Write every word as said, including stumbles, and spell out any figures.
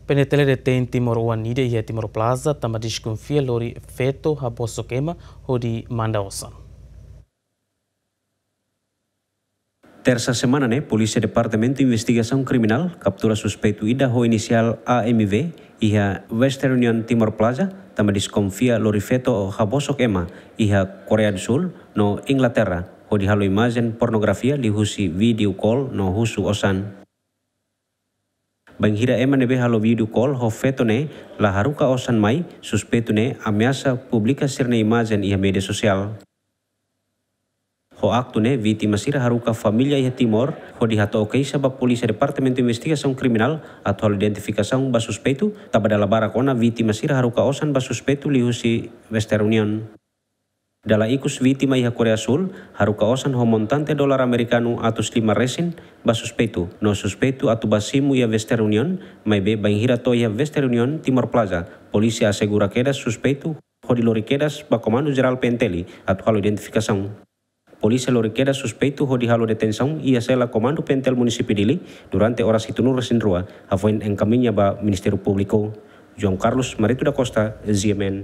PNTL detein timoroan ida iha Timor Plaza tanba deskonfia lori feto habosok ema hodi manda osan. Tersa semana ne'e, Polísia Departamentu Investigasaun Kriminál kaptura suspeitu ida ho inisiál A M V iha Western Union Timor Plaza, tanba deskonfia lori feto habosok ema iha Koreia do Sul no Inglaterra, hodi halo imajen pornografia liuhusi video call no husu osan. Bainhira ema ne'ebé halo video call ho feto ne'e la haruka osan mai, suspeitu ne'e ameasa publika sira-nia imajen iha média sosiál. Ho aktu ne'e, vítima sira haruka família iha Timor hodi hato'o keixa ba Polísia Departamentu Investigasaun Kriminál atu halo identifikasaun ba suspeitu, tanba dala barak ona vítima sira haruka osan ba suspeitu liuhusi Western Union. Dala ikus, vítima iha Koreia Sul haruka osan ho montante dolar amerikanu atus lima resin ba suspeitu, no suspeitu atu bá simu iha Western Union, maibé bainhira to'o iha Western Union Timor Plaza, polísia asegura kedas suspeitu hodi lori kedas ba Komandu Jerál PNTL atu halo identifikasaun. Polísia lori kedas suspeitu hodi halo detensaun iha sela Komandu PNTL Munisípiu Dili durante oras hitunulu resin rua, hafoin enkamiña ba Ministériu Públiku. João Carlos Marito da Costa, G M N.